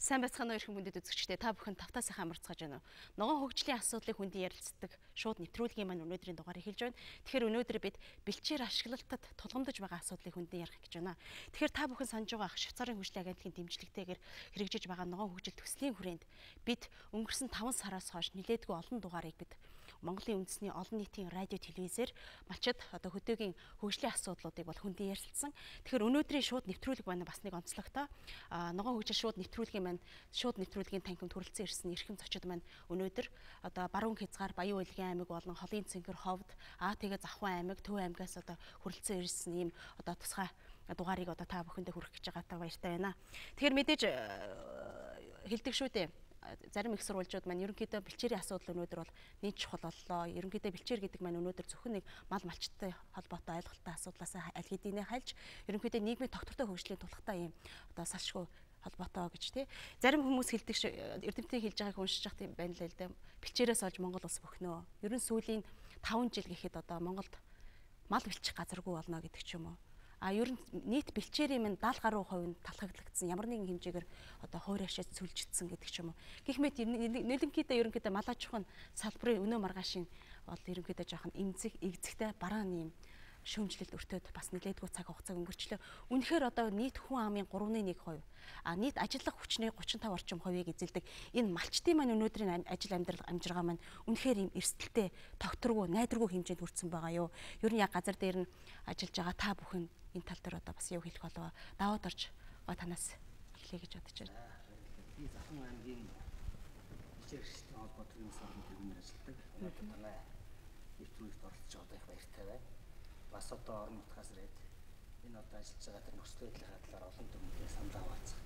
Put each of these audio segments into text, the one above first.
Сайн байцгаана уу эрхэм хүндэт үзэгчдээ, та бүхэн тавтаа сайхан амарцгааж байна уу? Ногоон хөгжлийн асуудлыг хүндийн ярилцдаг шууд нэвтрүүлгийн маань өнөөдрийн дугаар эхэлж байна. Тэгэхээр өнөөдөр бид бэлчээр ашиглалтад тулгамдж байгаа асуудлыг хүндийн ярих гэж байна. Тэгэхээр та бүхэн санаж байгаа Швейцарын хөгжлийн агентлагийн дэмжлэгтэйгээр хэрэгжиж байгаа ногоон хөгжил төслийн хүрээнд бид өнгөрсөн 5 сараас хойш нэлээдгүй олон дугаарыг бид Монголын үндэсний олон нийтийн радио телевизээр малчид одоо хөдөөгийн хөгжлийн асуудлуудыг бол хүндийн ярилцсан. Тэгэхээр өнөөдрийн шууд нэвтрүүлэг маань бас нэг онцлогтой. Ногоон хөгжил шууд нэвтрүүлгийн танхимд хүрэлцэн ирсэн эрхэм зочид маань өнөөдөр одоо Баруун Хязгаар, Баян Улгийн аймаг болон Холын Цэнгэр, Ховд, тэгээ Завхан аймаг, Төв аймагаас одоо хүрэлцэн ирсэн ийм одоо тусгай дугаарыг одоо та бүхэндээ хүргэх гэж байгаатай баяртай байна. Тэгэхээр мэдээж хэлдэг шүү дээ. Зарим их сурвалжууд маань ерөнхийдөө бэлчээрийн асуудал өнөөдөр бол нийт чухал боллоо. Ерөнхийдөө бэлчээр гэдэг маань өнөөдөр зөвхөн нэг мал малчтай холбоотой ойлголттой асуудлаас аль хэдийнэ хальж ерөнхийдөө нийгмийн тогтвортой хөгжлийн тулхтай юм одоо салшгүй холбоотой гэж тий. Зарим хүмүүс хэлдэг эрдэмтдийн хэлж байгааг уншиж явах юм байна л л дээ. Бэлчээрээс олж Монгол улс бөхнөө. Ер нь сүүлийн 5 жил гэхэд одоо Монголд мал бэлчих газаргүй болно гэдэг ч юм уу. Ер нь нийт бэлчээрийн минь 70 гаруй хувь нь талхаглагдсан. Ямар нэгэн хэмжээгээр одоо хойр хашаад сүлжигдсэн гэдэг ч юм уу. Гэх мэт ерөнхийдөө мал аж ахуйн салбарын өнөө маргаашийн бол ерөнхийдөө жоохон игзэгтэй барааны юм шүүмжлэлд өртөөд бас нэлээдгүй цаг хугацааг өнгөрчлөө. Үнэхээр одоо нийт хүн амын 3.1%, нийт ажиллах хүчний 35 орчим хувийг эзэлдэг энэ малчтын маань өнөөдрийн ажил амжиргаа маань үнэхээр юм эрсдэлтэй, тогтворгүй, найдваргүй хэмжээнд хүрсэн байгаа юу. Ер нь яг газар дээр нь ажиллаж байгаа та бүхэн энэ тал дээр одоо бас юу хэлэх болов? Даваад орж танаас эхлэе гэж бодож байна. Би Завхан аймгийн бэлчээрчдийн холбооны салбарын төвөөр ажилладаг. Өнөөдөр манай нэвтрүүлэгт оролцож байгаа их баяртай байна. Бас одоо орон нутгаас ирээд энэ одоо ажиллаж байгаа тэр нөхцөл байдлын талаар олон төрлийн санал аваацах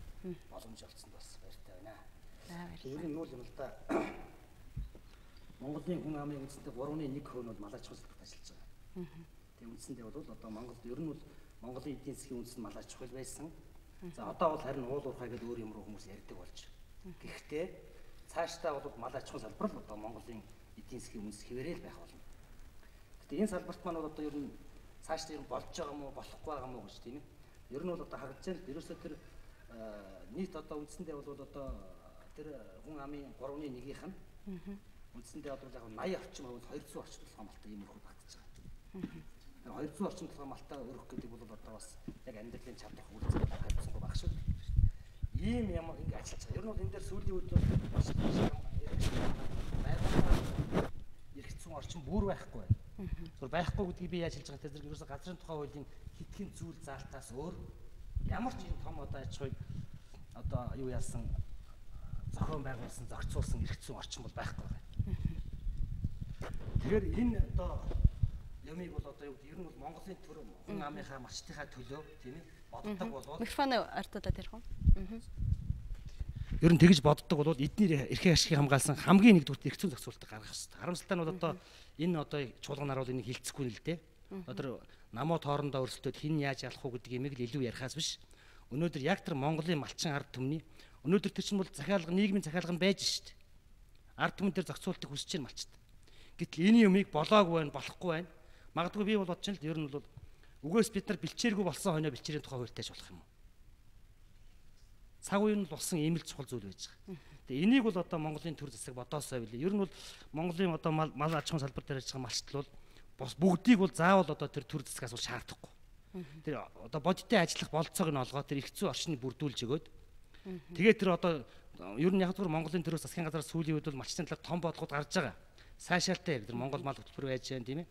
боломж олгосонд бас баяртай байна. Ер нь нүүл юм л да. Монголын хүн амын үндэсний 3.1% нь бол мал аж ахуйн салбарт ажиллаж байгаа. Тэгээ үндсэндээ бол одоо Монголд ер нь бол Монголын эдийн засгийн үндэс нь мал аж ахуй байсан. За одоо бол харин уул уурхай гэдэг өөр юм руу хүмүүс ярьдаг болж. Гэхдээ цаашдаа бол мал аж ахуйн салбар л одоо Монголын эдийн засгийн үндэс хэвээрэл байх болно. Гэхдээ энэ салбарт маань бол одоо ер нь цаашдаа ер нь болж байгаа юм уу, болохгүй байгаа юм уу гэж тийм ээ. Ер нь бол одоо харагдаж байна. Ерөөсөө тэр нийт одоо үндсэндээ бол одоо тэр хүн амын 3.1-ийнх нь үндсэндээ одоо яг 80 орчим хувь 200 орчим толгой малтай юм өрхөд багтаж байгаа. 200 орчим толгой малтай өрөх гэдэг бол одоо бас яг амьдралын чадвар хүрэлцэх хайрцангуй баг шүү. Ийм юм ингэ ажиллаж байгаа. Ер нь бол энэ дээр сүүлийн үед бол маш эргэцсэн орчин бүр байхгүй байна. Зүгээр байхгүй гэдгийг би яаж хэлж байгаа тэр ерөөсө газрын тухай хуулийн хитгэн зүйл заалтаас өөр ямар ч юм том одоо аж ахуйг одоо юу яасан зохион байгуулсан, зохицуулсан эргэцсэн орчин бол байхгүй байна. Тэгэхээр энэ одоо ямиг бол одоо юу гэдэг ер нь бол Монголын төр хүн амынхаа малчтынхаа төлөө тийм ээ боддог болоод микрофоны артуудад ярих уу? Ер нь тэгж боддог болоод эдний эрхээ ашигыг хамгаалсан хамгийн нэгдүгээр эрх зүйн зохицуулалтыг гаргах хэрэгтэй. Харамсалтай нь бол одоо энэ одоо чуулганаар бол энийг хилцэхгүй л дээ. Одоо намуу тоорондоо өрсөлдөд хин яаж ялах уу гэдэг юмыг л илүү ярихаас биш. Өнөөдөр яг тэр Монголын малчин ард түмний өнөөдөр тэр чинь бол нийгмийн захиалга нь байж шít. Ард түмэн дээр зохицуултыг хүсэж байна малчд. Гэтэл энэ юмыг болоогүй байна, болохгүй байна. Магадгүй би бол бодож байна л ер нь бол үгээс бид нар бэлчээргүй болсон хойно бэлчээрийн тухай хуультай болох юм уу? Цаг үеийн бол болсон ийм л чухал зүйл байж байгаа. Тэгээ энийг бол одоо Монголын төр засаг бодоосоо билээ. Ер нь бол Монголын одоо мал аж ахуйн салбар дээр ажиллаж байгаа малчтал бол бос бүгдийг бол заавал одоо тэр төр засгаас бол шаардахгүй. Тэр одоо бодиттой ажиллах болцоог нь олгоод тэр их зүй орчныг бүрдүүлж өгөөд тэгээд тэр одоо ер нь яг зөвхөн Монголын төр засгийн газраас сүүлийн үед бол малчтын талаар том бодлогод гарч байгаа. Сайшаалтай тэр Монгол мал хөтөлбөр байж байна тийм ээ.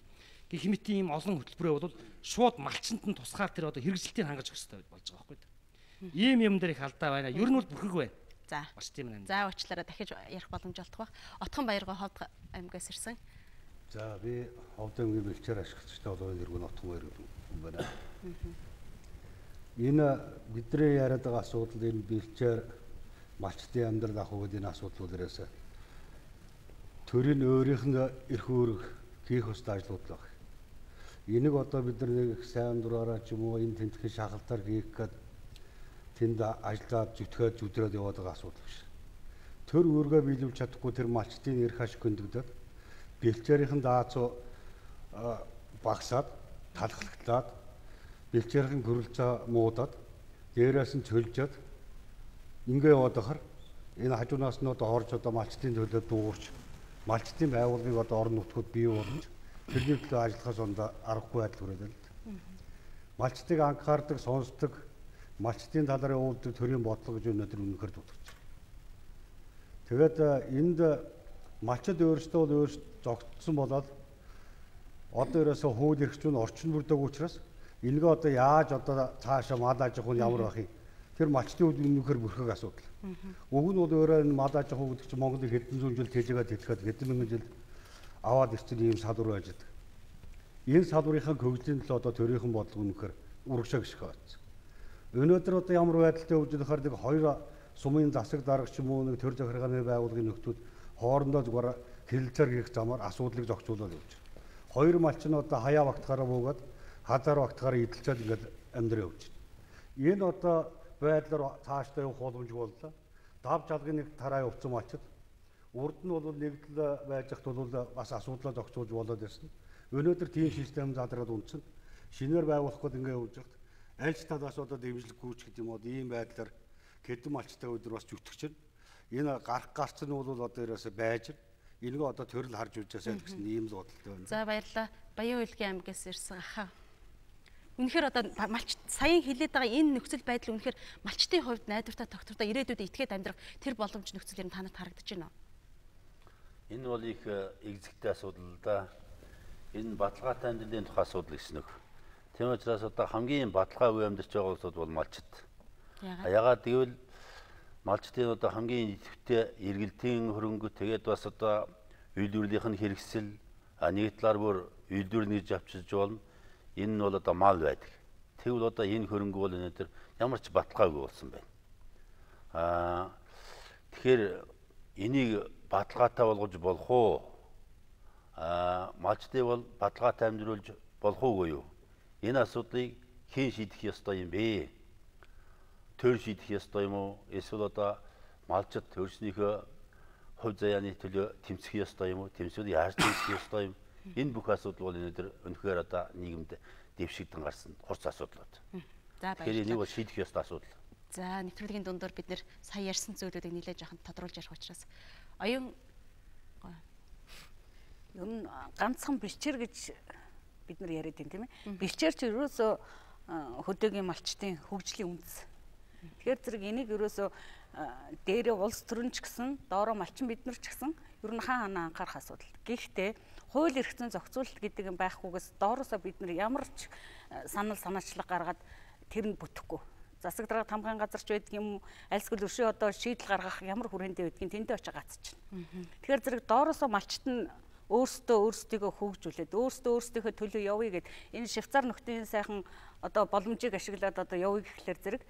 Гэх мэт ийм олон хөтөлбөрөө бол шууд малчинд нь тусгаар тэр одоо хэрэгжилтийг хангаж өгөх хэрэгтэй болж байгаа байхгүй. Ийм юм дээр их алдаа байна. Ер нь бол бүрхэг байна. За. За уучлаарай дахиж ярих боломж олдох бах. Отхон Баяргаа Ховд аймгаас ирсэн. За би Ховд аймгийн бэлчээр ашиглагчтай болоод иргэн Отхон Баяр юм байна. Энэ бидний яриад байгаа асуудал энэ бэлчээр малчтын амьдрал ахуй гэдэг энэ асуудлууд ерөөсөө төрийн өөрийнх нь эрх үүрэг хийх ёстой ажлууд л байна. Энийг одоо бид нар нэг сайн дураараа ч юм уу энэ тентхэн шахалтаар хийх гээд тэнд ажиллаад зүтгээд зүдрээд яваад байгаа асуудал биш. Төр үүргээ биелүүлж чадахгүй тэр малчтын эрх ашиг хөндөгдөд бэлчээрийнхэн даацуу багсаад талхлаглаад бэлчээрийн гөрөлцөө муудаад дээрээс нь чөлжөөд ингээ яваад ахаар Энэ хажуунаас нь одоо орж одоо малчтын төлөө дуугарч малчтын байгууллагыг одоо орон нутгууд бий болгож тэрний төлөө ажиллахаас аргагүй байдал хүрээд байна л да. Малчтыг анхаардаг, сонсдог, малчтын талаар явуулдаг төрийн бодлого гэж өнөөдөр үнэхээр дутагдаж байна. Тэгээд энд малчид өөрсдөө зогтсон болоод одоо ерөөсөө хууль эрх зүйн орчин бүрдэг учраас энэгээ одоо яаж одоо цаашаа мал аж ахуйн ямар байх юм? Тэр малчтын үед үнэхээр бүрхэг асуудал. Уг нь бол өөрөө энэ мал аж ахуй гэдэг чинь Монголыг хэдэн зуун жил тэжээгээд хэлэхэд хэдэн мянган жил аваад ирсэн ийм салбар байж байгаа. Энэ салбарынхаа хөгжлийн төлөө одоо төрийнхэн бодлого үнэхээр урагшаа гიშг байна. Өнөөдөр одоо ямар байдалтай явж байхаар нэг хоёр сумын засаг дарга ч юм уу нэг төр захиргааны байгууллагын нөхдүүд хоорондоо зүгээр хэлэлцээр хийх замаар асуудлыг зохицуулаад явж байна. Хоёр малч нь одоо хаяа багтахаараа буугаад хазаар багтахаараа идэлцээд ингээд амьдраа явж байна. Энэ одоо байдлаар цаашдаа явах боломжгүй боллоо. Давж алгын нэг тараа явцсан малчид урд нь бол нэгдэл байж хат бол бас асуудлаа зохицуулж болоод ирсэн. Өнөөдөр тийм систем задраад унтсан. Шинээр байгуулах гээд ингээд явж байхад аль ч талаас одоо дэмжлэг гүйч гэдэг юм уу ийм байдлаар хэдэн малчтай өдөр бас зүтгэж байна. Энэ гарцсан нь бол одоо ерөөсөй байж байна. Энийг одоо төрөл харж үзээсэй гэсэн ийм л бодолтой байна. За баярлалаа. Баян Үйлгийн аймгаас ирсэн ахаа. Үнэхээр одоо малч саяхан хэлээд байгаа энэ нөхцөл байдал үнэхээр малчтын хувьд найдвартай тогтвортой ирээдүйд итгээд амьдрах тэр боломж нөхцөл ер нь танад харагдаж байна уу? Энэ бол их экзэгтэй асуудал да. Энэ баталгаатай амьдралын тухай асуудал гэсэн үг. Тийм учраас одоо хамгийн баталгаа үе амьдарч байгаа улсууд бол малчид. Яагаад гэвэл малчдын одоо хамгийн идэвхтэй эргэлтийн хөрөнгө тэгээд бас одоо үйлдвэрлэлийнх нь хэрэгсэл нэг талаар бүр үйлдвэрлэл гэж авчиж болно. Энэ нь бол одоо мал байдаг. Тэгвэл одоо энэ хөрөнгө бол өнөөдөр ямар ч баталгаагүй болсон байна. Тэгэхээр энийг баталгаатай болгож болох уу? Малчдыг бол баталгаатай амьдруулж болох уугүй юу? Энэ асуудлыг хэн шийдэх ёстой юм бэ? Төр шийдэх ёстой юм уу? Эсвэл одоо малчид төрснийхөө хувь заяаны төлөө тэмцэх ёстой юм уу? Тэмцвэл яаж тэмцэх ёстой юм? Энэ бүх асуудал бол өнөөдөр өнөхөр одоо нийгэмд дэвшигдэн гарсан хурц асуудлууд. За баярлалаа. Тэгэхээр энийг бол шийдэх ёстой асуудал. За нэвтрүүлгийн дундуур бид нэр сая ярьсан зүйлүүдийг нэлээд жоохон тодруулж ярих учраас оюун ер нь ганцхан бэлчээр гэж бид нар яриад байна тийм ээ. Бэлчээр ч ерөөсөө хөдөөгийн малчтын хөгжлийн үндэс. Тэгэхээр зэрэг энийг ерөөсөө дээрээ улс төрөнч гэсэн, доороо малчин бид нар ч гэсэн ер нь хаана анхаарах асуудал. Гэхдээ хууль эрх зүйн зохицуулалт гэдэг юм байхгүйгээс доороосоо бид нар ямар ч санаачлага гаргаад тэр нь бүтэхгүй. Засаг дарга тамгын газарч байдаг юм, альсгэл өршөө одоо шийдэл гаргах ямар хүрээндээ байдгийг тэндээ очиж гацчихна. Тэгэхээр зэрэг доороосоо малчт нь өөрсдөө хөгжүүлээд өөрсдийнхөө төлөө явъя гэд энэ Швейцар нөхдийн сайхан одоо боломжийг ашиглаад одоо явъя гэхлээр зэрэг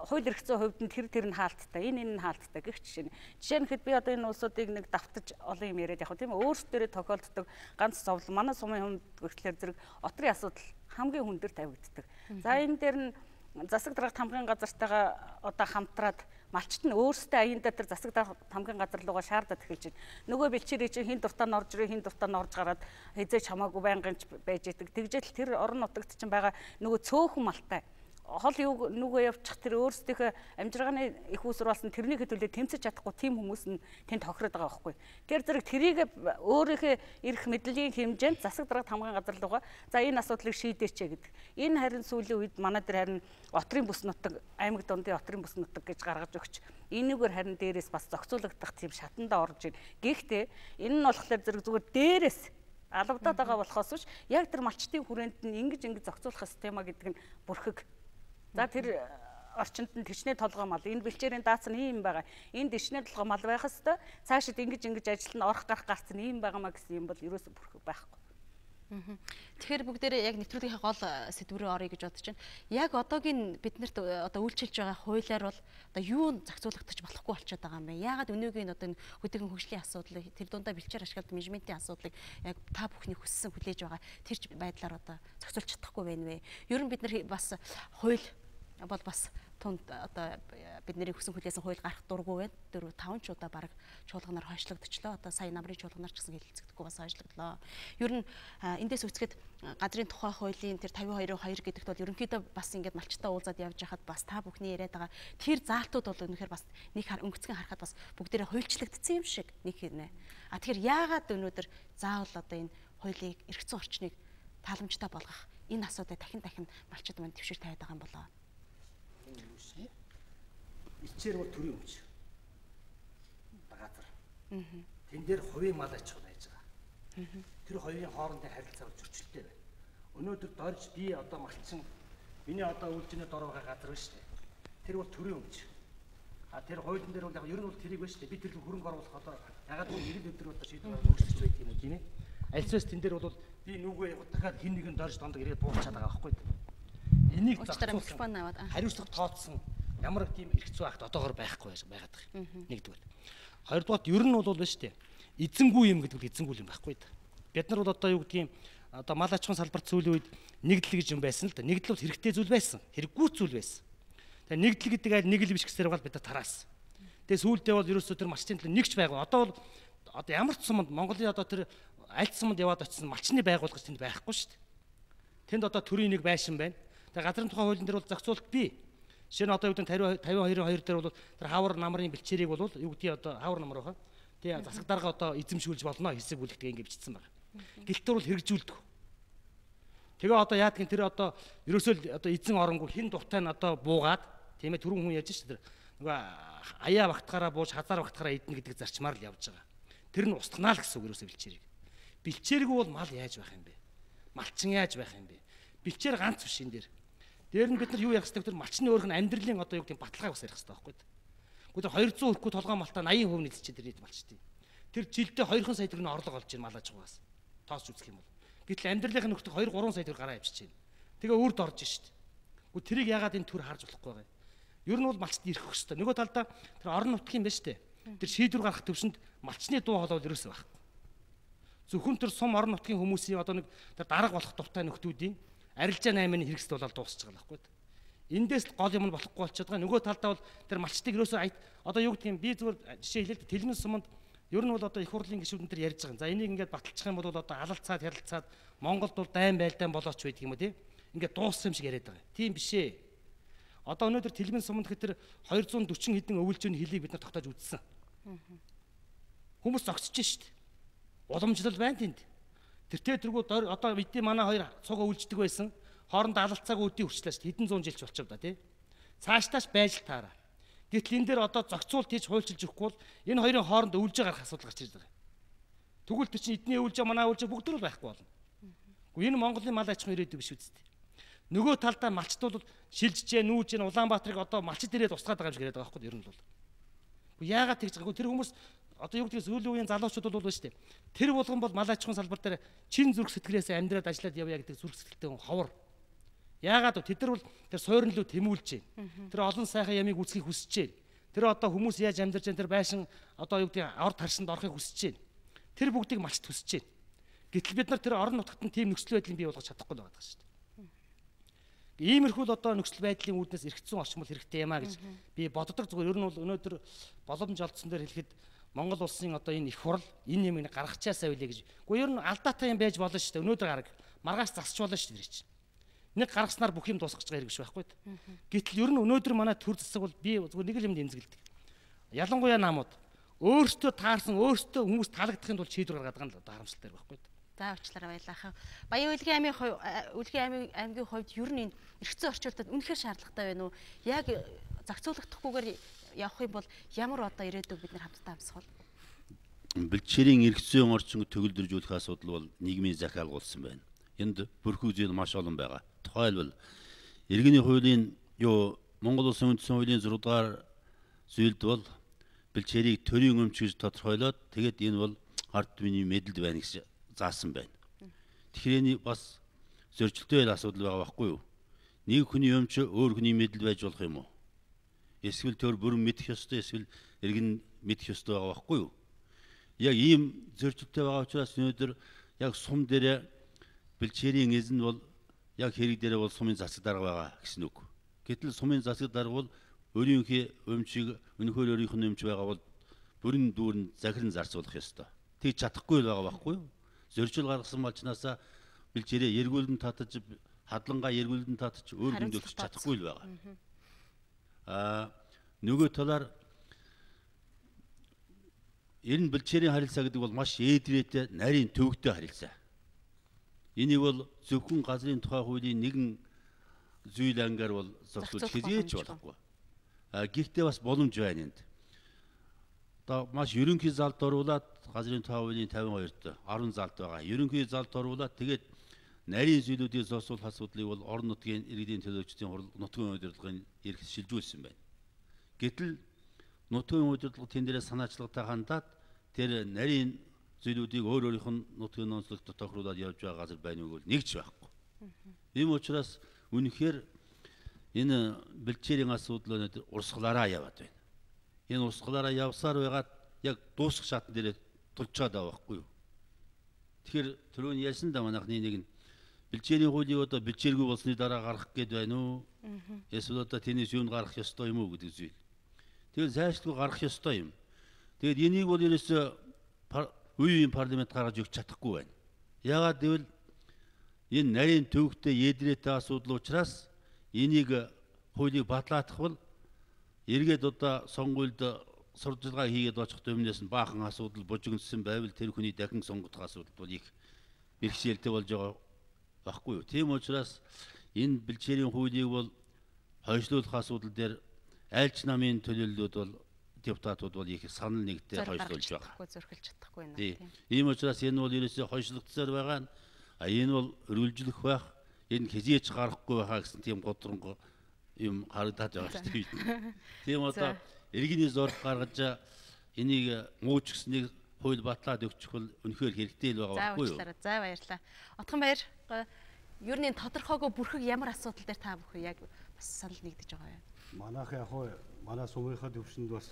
хууль эрх зүйн хувьд нь тэр нь хаалттай, энэ нь хаалттай гэх жишээ нь хэд би одоо энэ улсуудыг нэг давтаж олон юм яриад яг тийм ээ өөрсдөө тохиолддог ганц зовлон манай сумын хүнд гэхлээр зэрэг отрын асуудал хамгийн хүн дээр тавигддаг. За энэ дээр нь засаг дарга тамгын газартайгаа одоо хамтраад малчт нь өөрсдөө аяндаа тэр засаг дарга тамгын газар руугаа шаардаад эхэлж байна. Нөгөө бэлчээрээ чинь хин дуртаа нь орж ирээ, хин дуртаа нь орж гараад хязгаарч хамаагүй байнгын байж идэг. Тэгжэл тэр орон нутагт чинь байгаа нөгөө цөөхөн малтай хол юу нүгөө явчих тэр өөрсдийнхөө амжиргааны их уср болсон тэрний хөдөлөө тэмцэж чадахгүй тийм хүмүүс нь тэнд тохироод байгаа байхгүй. Тэр зэрэг тэрийг өөрийнхөө эрх мэдлийн хэмжээнд засаг дарга тамгын газар руугаа за энэ асуудлыг шийдээч гэдэг. Энэ харин сүүлийн үед манай дээр харин отрын бүс нутаг аймаг дундын отрын бүс нутаг гэж гаргаж өгч энэгээр харин дээрээс бас зохицуулагдах тийм шатанда орж ийн. Гэхдээ энэ нь болохоор зэрэг зүгээр дээрээс алавдаад байгаа болохоос биш яг тэр малчтын хүрээнд нь ингэж зохицуулах система гэдэг нь бүрхэг. За тэр орчинд нь төчнээ толгой мал энэ бэлчээрийн дац нь ийм байгаа. Энд төчнээ толгой мал байх хэвээр цаашид ингэж ажилтнаа орох гарах гарц нь ийм байгаамаа гэсэн юм бол ерөөсө бүрхэг байхгүй. Тэгэхээр бүгдээрээ яг нэвтрүүлгийнхээ гол сэдв рүү орё гэж бодож байна. Яг одоогийн биднэрт одоо үйлчилж байгаа хуулиар бол одоо юу зохицуулагдаж болохгүй болчиход байгаа юм бэ? Яагаад өнөөгийн одоо хөдөлгөөн хөгжлийн асуудлыг тэр дундаа бэлчээр ашиглаад менежментийн асуудлыг яг та бүхний хүссэн хүлээж байгаа тэр байдлаар одоо зохицуулж чадахгүй байна вэ? Ер нь бид нар бас хууль бол бас тунд одоо бидний хүсэн хүлээсэн хууль гарах дургүй байна. 4-5 ч удаа баг чуулганаар хойшлогдчихлоо. Одоо сая намрын чуулганаар ч гэсэн хэлэлцэгдэхгүй бас хойшлогдлоо. Ер нь эндээс үцгэд газрын тухай хуулийн тэр 52-2 гэдэгт бол ерөнхийдөө бас ингээд малчтаа уулзаад явж хахад бас та бүхний яриад байгаа тэр заалтууд бол үнэхээр бас нэг өнгөцгөн харахад бас бүгдээрээ хуульчлагдсан юм шиг нэг хэрнэ. Тэгэхээр яагаад өнөөдөр заавал одоо энэ хуулийг эрх зүйн орчныг тааламжтай болгох энэ асуудыг дахин малчид манд төвшөр тавиад байгаа юм болоо. Ичээр бол төрийн өмч. Газар. Тэн дээр хувийн мал аж ахуй байж байгаа. Тэр хоёрын хоорондын харилцаа зөрчилтэй байна. Өнөөдөр дорж би одоо малчин миний одоо үйлжний дор байгаа газар байна шүү дээ. Тэр бол төрийн өмч. Тэр хуулийн дээр бол яг ер нь бол тэрийг байна шүү дээ. Би тэр хөрөнгө оруулах одоо ягаад гэвэл ирэл өдөр одоо шийдвэр өөрчлөж байдаг юм уу тийм ээ. Альцаас тэн дээр бол би нүгөө дахиад хин нэгэн дорж дондог ирээд буучаад байгаа байхгүй. Энийг зохицуулсан хариуцлага тооцсон ямар тийм эрх зүй акт одоогоор байхгүй байгаад байгаа юм. Нэгдүгээр. Хоёрдугаар ер нь бол байна шүү дээ. Эзэнгүй юм гэдэг нь эзэнгүй юм байхгүй да. Бид нар бол одоо юу гэдгийг одоо мал аж ахуйн салбарт сүүлийн үед нэгдэл гэж юм байсан л да. Нэгдэл бол хэрэгтэй зүйл байсан. Хэрэггүй зүйл байсан. Тэгээ нэгдэл гэдэг айл нэг л биш гэсээр бол бид нар тараас. Тэгээ сүүлдээ бол ерөөсөө тэр малчны төлөө нэгч байгуу. Одоо бол одоо ямар ч суманд Монголын одоо тэр аль суманд яваад очсон малчны байгууллага тэнд байхгүй шүү дээ. Тэнд одоо төрийн нэг байшин байна. Тэгээ газрын тухай хуулийн дээр бол зохицуулт бий. Жишээ нь одоо юу гэдэг 52-2 дээр бол тэр хавар намрын бэлчээрийг бол юу гэдгийг одоо хавар намар байгаа. Тэгээ засаг дарга одоо эзэмшүүлж болно хэсэг бүлэгтээ ингэ бичсэн байна. Гэлтэр бол хэрэгжүүлдэг. Тэгээ одоо яадгийн тэр одоо ерөөсөө одоо эзэн оронгүй хин дуртай нь одоо буугаад тийм ээ түрүүн хүн ярьж шүү дээ. Нөгөө аяа багтахаараа бууж хазаар багтахаараа идэнэ гэдэг зарчмаар л явж байгаа. Тэр нь устгнаа л гэсэн үг ерөөсөө бэлчээрийг. Бэлчээргүй бол мал яаж байх юм бэ? Малчин яаж байх юм бэ? Бэлчээр ганц биш энэ дээр. Дээр нь бид нар юу ярих хэрэгтэй вэ? Малчны өөрх нь амьдралын одоо юу гэдэг баталгааг бас ярих хэрэгтэй байхгүй юу? Гэхдээ 200 хүрэхгүй толгой малтаа 80% нийлчихэд ирээд малчтыг. Тэр жилдээ 2 сая төгрөгийн орлого олж ийн мал аж ахуйгаас. Тоосч үзэх юм бол. Гэтэл амьдралынхаа нөхдөд 2-3 сая төгрөг гараа авчиж байна. Тэгээ үрд орж шít. Гэхдээ тэрийг яагаад энэ төр харж болохгүй вэ? Ер нь бол малчд ирэх хөстэй. Нөгөө талдаа тэр орон нутгийн байна шүү дээ. Тэр шийдвэр гаргах төвшөнд малчны дуу хоолой ерөөсөө байхгүй. Зөвхөн тэр сум орон нутгийн хүмүүсийн одоо нэг тэр дарга болох дуртай нөхдүүдийн арилжаа 8-ны хэрэгсэл болоод дуусч байгаа байхгүй. Эндээс гол юм нь болохгүй болчиход байгаа. Нөгөө талдаа бол тэр малчтыг ерөөсөө одоо юу гэдгийг би зүгээр жишээ хэлээд Тэлмэн суманд ер нь бол одоо их хурлын гишүүдэн дээр ярьж байгаа. За энийг ингээд баталчих юм бол одоо алалцаад ярилцаад Монголд бол дайн байлдаан болооч байдаг юм уу тий? Ингээд дууссан юм шиг яриад байгаа. Тийм биш ээ. Одоо өнөөдөр Тэлмэн суманд гэтэр 240 хэдэн өвөлжөөний хөлийг бид нар тогтоож үзсэн. Хүмүүс зогсож шít. Уламжлал байна тэнд. Тэр тэргүү одоо бидний манай хоёр цугаа үлждэг байсан. Хоорондоо алалцаагүй үдийн хүрчлээ шít. Хэдэн зуун жил ч болчиход да тий. Цаашдаач байж л таараа. Гэтэл энэ дээр одоо зохицуулт хийж хуульчилж өгөхгүй бол энэ хоёрын хооронд өвлж гарах асуудал гарч ирж байгаа. Тэгвэл тэр чинь эдний өвлж манай өвлж бүгд л байхгүй болно. Гэхдээ энэ Монголын мал аж ахуйн ирээдүй биш үсттэй. Нөгөө талдаа малчтууд шилжижээ, нүүжээ, Улаанбаатарыг одоо малчд ирээд устгаад байгаа юм шиг яриад байгаа байхгүй юу? Ер нь бол. Яагаад тэгж байгаагүй тэр хүмүүс одоо юу гэдгийг сүүлийн үеийн залуучууд бол шүү дээ. Тэр болгон бол мал аж ахуйн салбар дээр чин зүрх сэтгэлээс амьдраад ажиллаад явъя гэдэг зүрх сэтгэлтэй хүн ховор. Яагаад вэ? Тэд нар бол тэр суурин лөө тэмүүлж байна. Тэр олон сайхан ямиг үүсгэхийг хүсэж байна. Тэр одоо хүмүүс яаж амьдарч байна тэр байшин одоо юу гэдгийг орд харшинд орохыг хүсэж байна. Тэр бүгдийг малчд хүсэж байна. Гэтэл бид нар тэр орон нутгад нь тийм нөхцөл байдлыг бий болгож чадахгүй байгаа шүү дээ. Иймэрхүү л одоо нөхцөл байдлын үүднээс эрх зүйн орчмол хэрэгтэй юмаа гэж би боддог. Зүгээр ер нь бол өнөөдөр боломж олдсон дээр хэлэхэд Монгол улсын одоо энэ их хурл энэ юмыг гаргачаасаа үлээ гэж. Гэхдээ ер нь алдаатай юм байж болно шүү дээ. Өнөөдөр гараг маргааш засч болно шүү дээ чинь. Нэг гаргаснаар бүх юм дуусгаж байгаа хэрэг биш байхгүй. Гэтэл ер нь өнөөдөр манай төр засаг бол би зүгээр нэг л юм дэмзгэлдэг. Ялангуяа намууд өөртөө таарсан өөртөө хүмүүс таалагдахын тулд шийдвэр гаргаад байгаа нь одоо харамсалтай байхгүй. За уучлаарай баялаахан. Баян Улгийн аймгийн хувьд ер нь энэ эрх зүйн орчуултад үнэхээр шаардлагатай байна уу? Яг зохицуулахдахгүйгээр явах юм бол ямар одоо ирээдүйг бид нар хамтдаа амсах вэ? Бэлчээрийн эрх зүйн орчинг төгөлдржүүлэх асуудал бол нийгмийн захиалгуулсан байна. Энд бүрхүү зүйл маш олон байгаа. Тухайлбал иргэний хуулийн Монгол Улсын үндсэн хуулийн 6 дугаар зүйлд бол бэлчээрийг төрийн өмч гэж тодорхойлоод тэгээд энэ бол ард түмний мэдэлд байна гэж заасан байна. Тэгэхээр энэ бас зөрчилтэй асуудал байгаа байхгүй юу? Нэг хүний өмч өөр хүний мэдэлд байж болох юм уу? Эсвэл төр бүрэн мэдэх ёстой, эсвэл иргэн мэдэх ёстой байгаа байхгүй юу? Яг ийм зөрчилтэй байгаа учраас өнөөдөр яг сум дээр бэлчээрийн эзэн бол яг хэрэг дээр бол сумын засаг дарга байгаа гэсэн үг. Гэтэл сумын засаг дарга бол өөрийнхөө өмчийг өнөхөр өөрийнх нь өмч байгаа бол бүрэн дүүрэн захиран зарцуулах ёстой. Тэг чадахгүй л байгаа байхгүй юу? Зорчил гаргасан малчнаасаа бэлчээрээ эргүүлэн татаж хадлангаа эргүүлэн татаж өөр хөндөөлж чадахгүй л байгаа. Нөгөө талаар энэ бэлчээрийн харилцаа гэдэг бол маш ээдрээтэй нарийн төвөгтэй харилцаа. Энийг бол зөвхөн газрын тухай хуулийн нэгэн зүйл ангаар бол зохицуулж хийж болохгүй. Гэхдээ бас боломж байна энд. Одоо маш ерөнхий залд оруулаад газрын тухай хуулийн 52-т 10 залд байгаа. Ерөнхий залд оруулаад тэгээд нарийн зүйлүүдийг зогсуулах асуудлыг бол орон нутгийн иргэдийн төлөөлөгчдийн хурал нутгийн удирдлагын эрх шилжүүлсэн байна. Гэтэл нутгийн удирдлага тэн дээрээ санаачлагтай хандаад тэр нарийн зүйлүүдийг өөр өөрийнх нь нутгийн онцлогт тохируулаад явж байгаа газар байна уу гэвэл нэгч байхгүй. Ийм учраас үнэхээр энэ бэлчээрийн асуудал өнөөдөр урсгалаараа яваад байна. Энэ урсгалаараа явсаар байгаад яг дуусах шатн дээрээ тулчаад байгаа байхгүй юу? Тэгэхээр түрүүн ярьсан да манайхны нэг нь бэлчээрийн хуулийг одоо бэлчээргүй болсны дараа гаргах гээд байна уу? Эсвэл одоо тэнэс юунд гарах ёстой юм уу гэдэг зүйл. Тэгээд зайлшгүй гарах ёстой юм. Тэгээд энийг бол ерөөсөө үеийн парламент гаргаж өгч чадахгүй байна. Яагаад гэвэл энэ нарийн төвөгтэй ээдрээтэй асуудал учраас энийг хуулийг батлаадах бол эргээд одоо сонгуульд сурталчилгаа хийгээд очихт өмнөөс нь баахан асуудал бужигнсан байвал тэр хүний дахин сонгогдох асуудал бол их бэрхшээлтэй болж байгаа байхгүй юу. Тийм учраас энэ бэлчээрийн хуулийг бол хойшлуулах асуудал дээр айлч намын төлөөллүүд бол депутатууд бол их санал нэгтэй хойшлуулж байгаа. Зөрхилж чадахгүй байна. Тийм. Ийм учраас энэ бол ерөөсөө хойшлогдсоор байгаа нь энэ бол өргөлжлөх байх, энэ хизээч гарахгүй байхаа гэсэн тийм годронго юм харагдаад байгаа шүү дээ. Тийм одоо иргэний зорилго гаргаж энийг мууч гэснийг хууль батлаад өгчих бол үнэхээр хэрэгтэй л байгаа байхгүй юу? За баярлалаа. Отхон баяр. Ер нь тодорхойгүй бүрхэг ямар асуудал дээр та бүхэн яг бас санал нэгдэж байгаа юм? Манайх яг манай сумынхаа төвшөнд бас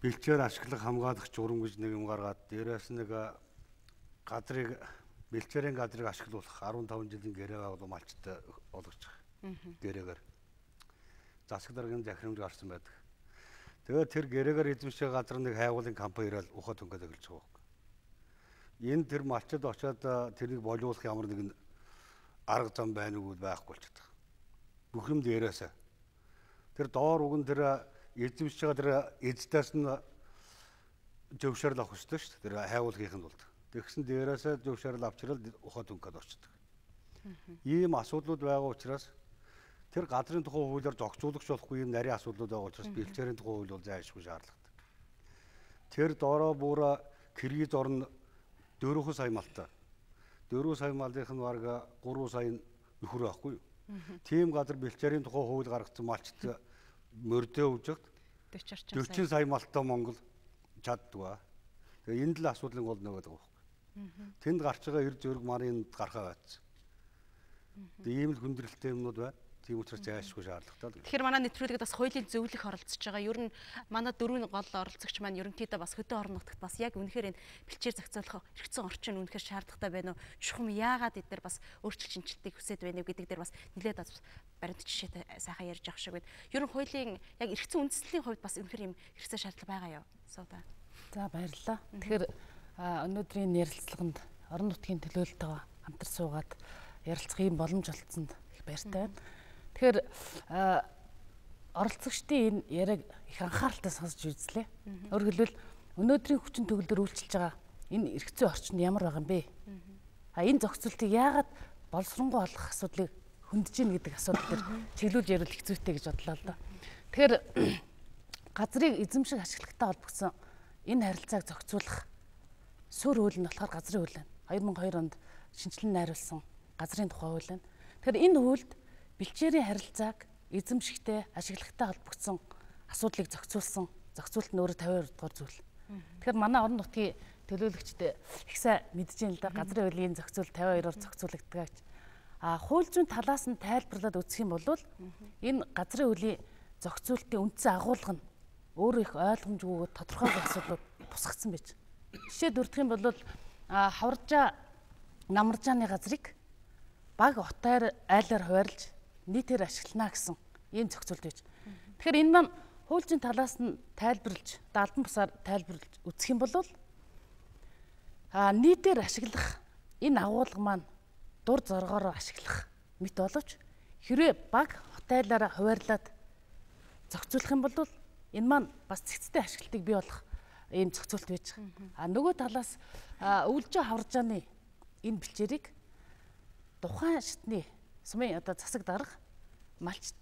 бэлчээр ашиглах хамгаалах журам гэж нэг юм гаргаад дээрээс нэг газрыг бэлчээрийн газрыг ашиглуулах 15 жилийн гэрээ авал малчтай олгочих. Гэрээгээр засаг даргын захирамж гарсан байдаг. Тэгээд тэр гэрээгээр эзэмших газар нэг хайгуулын компани ирэл ухаад өнгөд эхэлж байгаа юм. Энэ тэр малчид очиод тэрийг болиулах ямар нэгэн арга зам байна уу байхгүй болчихдог. Бүх юм дээрээс. Тэр доор уг нь тэр эзэмшиж байгаа тэр эздэс нь зөвшөөрөл авах хэрэгтэй шүү дээ. Тэр хайгуулгын тулд. Тэгсэн дээрээс зөвшөөрөл авчрал ухаад өнгөд очдог. Ийм асуудлууд байгаа учраас тэр газрын тухай хуулиар зохицуулагч болохгүй юм нарийн асуудлууд байгаа учраас бэлчээрийн тухай хууль бол зайлшгүй шаардлагатай. Тэр доороо бүр кредит орно 4 сая малтай. 4 сая малынх нь бараг 3 сая нөхөр байхгүй юу? Тийм газар бэлчээрийн тухай хууль гаргацсан малчт мөрдөө үжигт 40 сая малтай Монгол чаддгаа. Тэгээ энэ л асуудлын гол нэг байгаа байхгүй. Тэнд гарч байгаа эр зөрг манай энд гарахаа байцсан. Ийм л хүндрэлтэй юмнууд байна. Тийм учраас зайлшгүй шаардлагатай. Тэгэхээр манай нэвтрүүлэгт бас хуулийн зөвлөх оролцож байгаа. Ер нь манай дөрвөн гол оролцогч маань ерөнхийдөө бас хөдөө орон нутагт бас яг үнэхээр энэ бэлчээр зохицуулах хэрэгцээ орчин үнэхээр шаардлагатай байна уу? Чухам яагаад эдгээр бас өөрчлөлт шинжилтийг хүсэж байна уу гэдэг дээр бас нэлээд баримт жишээтэй сайхан ярьж авах шиг байна. Ер нь хуулийн яг эргэцэн үндэслэлийн хувьд бас үнэхээр юм хэрэгцээ шаардлага байгаа юу? Сууда. За баярлалаа. Тэгэхээр өнөөдрийн ярилцлаганд орон нутгийн төлөөлөлтөйгөө хамтар суугаад ярилцах юм боломж олгосонд их баяртай байна. Тэгэхээр оролцогчдын энэ яриаг их анхааралтай сонсож үзлээ. Өөрөөр хэлбэл өнөөдрийн хүчин төгөлдөр үйлчилж байгаа энэ эргэцэн орчинд ямар байгаа юм бэ? Энэ зохицуултыг яагаад боловсронгуй олох асуудлыг хөндөж ийн гэдэг асуудал дээр чиглүүлж ярил их зүйтэй гэж бодлоо л доо. Тэгэхээр газрыг эзэмших ашиглагтай холбогдсон энэ харилцааг зохицуулах суурь хууль нь болохоор газрын хууль байна. 2002 онд шинжилэн найруулсан газрын тухай хууль байна. Тэгэхээр энэ хуульд бэлчээрийн харилцааг эзэмшихтэй ашиглагтай холбогдсон асуудлыг зохицуулсан зохицуулт нь өөрөө 52 дугаар зүйл. Тэгэхээр манай орон нутгийн төлөөлөгчд их сайн мэдж байна л да газрын хуулийн зохицуул 52-оор зохицуулагддаг гэж. Хууль зүйн талаас нь тайлбарлаад үзэх юм бол энэ газрын хуулийн зохицуултын үндсэн агуулга нь өөрөө их ойлгомжгүй тодорхой асуудлууд бусгацсан байж. Жишээ дурдах юм бол хаваржаа намаржааны газрыг баг отоор айлаар хуваарлж нийтээр ашиглана гэсэн ийм зохицуулт байж. Тэгэхээр энэ маань хуулийн талаас нь тайлбарлаж, албан бусаар тайлбарлаж үзэх юм бол нийтээр ашиглах энэ агуулга маань дур зоргоороо ашиглах мэт боловч хэрвээ баг хотайлаараа хуваарлаад зохицуулах юм бол энэ маань бас цэгцтэй ашиглалтыг бий болох ийм зохицуулт байж байгаа. Нөгөө талаас өвлжөө хаваржааны энэ бэлчээрийг тухайн шатны сумын одоо засаг дарга малчт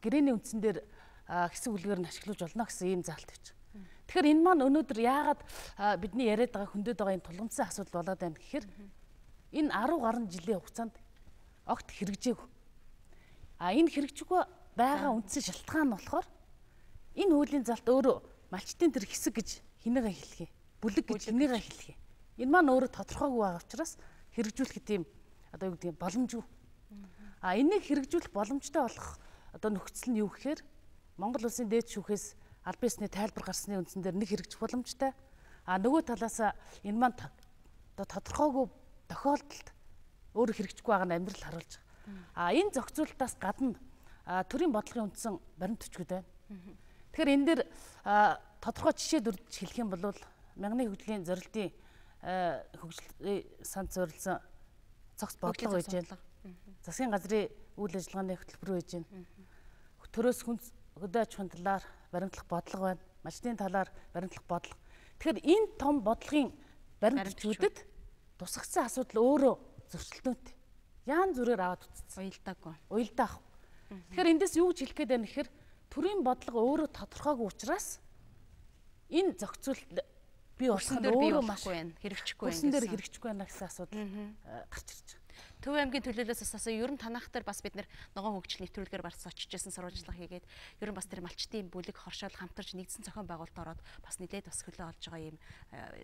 гэрээний үндсэн дээр хэсэг үлгээр нь ашиглаж болно гэсэн ийм заалт байж байгаа. Тэгэхээр энэ маань өнөөдөр яагаад бидний яриад байгаа хөндөд байгаа энэ тулгымцсан асуудал болоод байна гэхээр энэ 10 гаруй жилийн хугацаанд огт хэрэгжээгүй. Энэ хэрэгжихгүй байгаа үндсэн шалтгаан нь болохоор энэ хуулийн залт өөрөө малчтын тэр хэсэг гэж хинээгээ хэлхий. Бүлэг гэж хинээгээ хэлхий. Энэ маань өөрөө тодорхойгүй байгаа учраас хэрэгжүүлэх тийм одоо юу гэдэг боломжгүй. Энийг хэрэгжүүлэх боломжтой болох одоо нөхцөл нь юу гэхээр Монгол улсын дээд шүүхээс албан ёсны тайлбар гарсны үндсэн дээр нэг хэрэгжих боломжтой. Нөгөө талаас энэ маань одоо тодорхойгүй тохиолдолд өөрөө хэрэгжихгүй байгаа нь амьдрал харуулж байгаа. Энэ зохицуултаас гадна төрийн бодлогын үндсэн баримт төчгөд байна. Тэгэхээр энэ дээр тодорхой жишээ дүрж хэлэх юм бол мянганы хөгжлийн зорилтын хөгжлийн санд зориулсан цогц бодлого байж байна. Засгийн газрын үйл ажиллагааны хөтөлбөр байж байна. Төрөөс хөдөө аж ахуйн талаар баримтлах бодлого байна. Малчтын талаар баримтлах бодлого. Тэгэхээр энэ том бодлогын баримт төчгөдөд тусгацсан асуудал өөрөө зөрчилдөөнтэй. Яан зүрээр аваад үтцсэн. Уялдаагүй. Уялдаах. Тэгэхээр эндээс юу гэж хэлэх гээд байна гэхээр төрийн бодлого өөрөө тодорхойгүй учраас энэ зохицуулт бий болсон нь өөрөө маш хэрэгжихгүй байна. Үсэн дээр хэрэгжихгүй байна гэсэн асуудал гарч ирж байгаа. Төв аймгийн төлөөлөөс асуусан ер нь танах дээр бас бид ногоон хөгжил нэвтрүүлгээр барьсан очижсэн сурвалжлага хийгээд ер нь бас тэр малчтын бүлэг хоршоол хамтарч нэгдсэн зохион байгуулалт ороод бас нэлээд бас хөлөө олж байгаа юм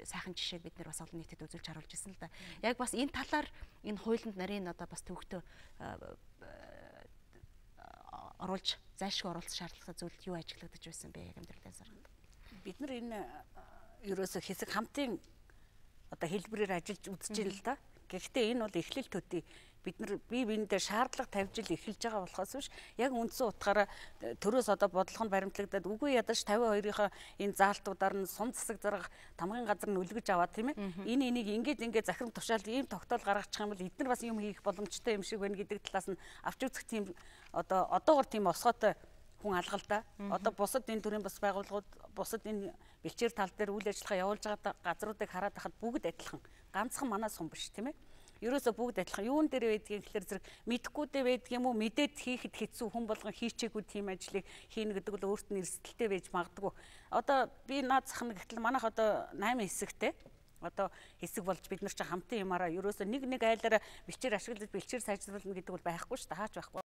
сайхан жишээг бид бас олон нийтэд үзүүлж харуулж ирсэн л да. Яг бас энэ талаар энэ хуулинд нарийн одоо бас төвөгтөө оруулж зайлшгүй оруулах шаардлагатай зүйл юу ажиглагдаж байсан бэ яг амьдралын сарганд. Бид нар энэ ерөөсө хэсэг хамтын одоо хэлбэрээр ажиллаж үзэж байна л да. Гэхдээ энэ бол эхлэл төдий бид нар бие биендээ шаардлага тавьж ил эхэлж байгаа болохоос биш яг үндсэн утгаараа төрөөс одоо бодлого нь баримтлагдаад үгүй ядаж 52-ийнхаа энэ заалтуудаар нь сум засаг зарга тамгын газар нь үлгэж аваад тийм ээ энийг ингээд захирам тушаалд ийм тогтоол гаргачих юм бол эдгээр бас юм хийх боломжтой юм шиг байна гэдэг талаас нь авч үзэх тийм одоогор тийм осгоотой хүн алгалдаа одоо бусад энэ төрлийн бас байгууллагууд бусад энэ бэлчээр тал дээр үйл ажиллагаа явуулж байгаа газруудыг хараад байхад бүгд адилхан ганцхан манаа сум биш тийм ээ ерөөсө бүгд адилхан юун дээр байдгийг гэхэлэр зэрэг мэдхгүйдээ байдаг юм уу мэдээд хийхэд хэцүү хүн болгон хийчээгүй тийм ажлыг хийнэ гэдэг бол өөрт нь эрсдэлтэй байж магадгүй одоо би наад захна гэтэл манайх одоо 8 хэсэгтэй одоо хэсэг болж бид нар ч хамтын юмараа ерөөсө нэг айлаараа бэлчээр ашиглаж бэлчээр сайжруулна гэдэг бол байхгүй шүү дээ хаач байхгүй